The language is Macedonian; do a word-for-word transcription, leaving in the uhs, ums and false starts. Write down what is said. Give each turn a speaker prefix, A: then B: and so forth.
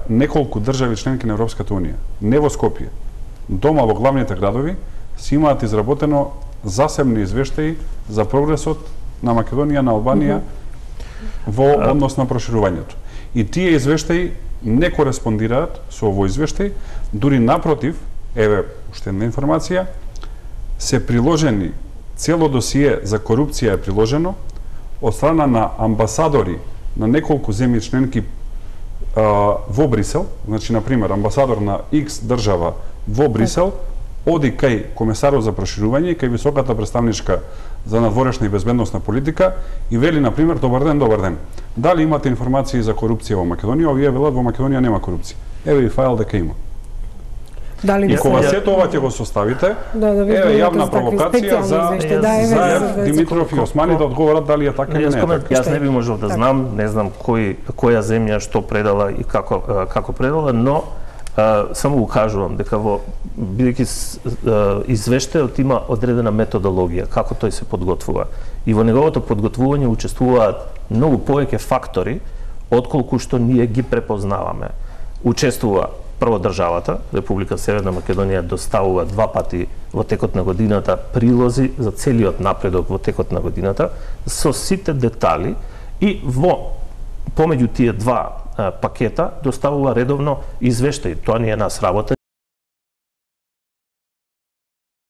A: неколку држави членки на Европската унија, не во Скопје, дома во главните градови, си имаат изработено засебни извештаи за прогресот на Македонија, на Албанија во однос на проширувањето. И тие извештаи не кореспондираат со овој извештај, дури напротив, еве уште една информација, се приложени цело досие за корупција е приложено од страна на амбасадори на неколку земји членки а, во Брисел, значи на пример амбасадор на X држава во Брисел оди кај комесарот за проширување и кај високата представничка за надворешна и безбедносна политика и вели на пример добар ден, добар ден. Дали имате информации за корупција во Македонија? Овие велат во Македонија нема корупција. Еве и файл дека има.
B: Дали
A: и кога сето ова ќе го составите,
B: да, да
A: еве јавна провокација за,
B: да,
A: за Димитров и Османи да одговорат дали е така или не е така.
C: Јас не би можел да знам, не знам кој која земја што предала и како како предала, но Uh, само го кажувам дека во бидејќи uh, извештајот има одредена методологија како тој се подготвува и во неговото подготвување учествуваат многу повеќе фактори отколку што ние ги препознаваме. Учествува прво државата, Република Северна Македонија доставува два пати во текот на годината прилози за целиот напредок во текот на годината со сите детали и во помеѓу тие два пакета доставува редовно извештаи. Тоа не е нас работа.